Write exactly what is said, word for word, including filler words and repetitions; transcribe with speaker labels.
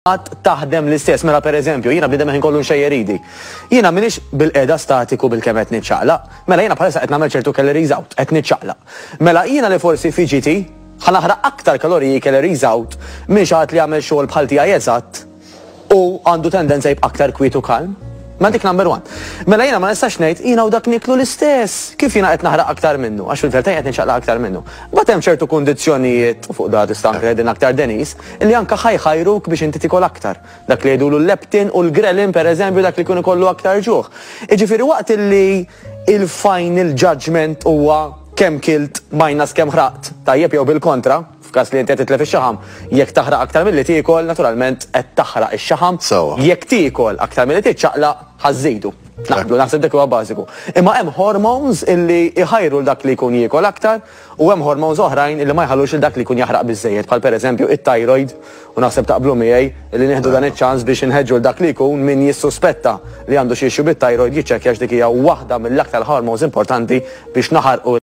Speaker 1: Għad taħdem l-istess. Mela, per eżempju, jiena bniedem ħin kollu nxejjer idi. Jiena minix bil-qeda statiku bil-kemm qed niċċaqlaq. Mela jiena bħalissa qed nagħmel ċertu calories out, qed niċċaqlaq. Mela jiena li forsi F G T ħa naħraq aktar kaloriji calories out minn xi ħadd li jagħmel xogħol bħal tiegħi eżatt u għandu tendenza jibqa' aktar kwiet u kalm. Ma dik number one. Mela jiena ma nistax ngħid jiena u dak niklu l-istess. Kif jiena qed naħraq aktar minnu? Għax fil-verità qed niċċaqlaq aktar minnu. But hemm ċertu kundizzjonijiet, u fuq da tista' anke din aktar Denis, illi anke ħa jħajruk biex inti tikol aktar. Dak li jgħidulu l-leptin u l-ghrelin, per eżempju, dak li jkun ikollu aktar ġuħ. Iġifieri waqt illi il-final judgment huwa kemm kilt minus kemm ħraqt, tajjeb, jew bil-kontra, f'każ li inti qed titlef ix-xaħam, jekk taħraq aktar milli tiekol, naturalment qed taħraq ix-xaħam.
Speaker 2: Sewwa.
Speaker 1: Jekk tiekol aktar milli tiċċaqlaq, ħa żżidu. Naqblu, naħseb dik huwa bażiku. Imma hemm hormones illi iħajru l dak li jkun jiekol aktar u hemm hormones oħrajn illi ma jħallux il dak li jkun jaħraq biżejjed, bħal pereżempju it-thyroid, u naħseb taqblu miegħi illi nieħdu dan iċ-ċans biex inħeġġu l dak li jkun min jissuspetta li għandu xi issue bit-thyroid jiċċekkja, dik hija waħda mill-aktar hormones importanti biex naħarqu.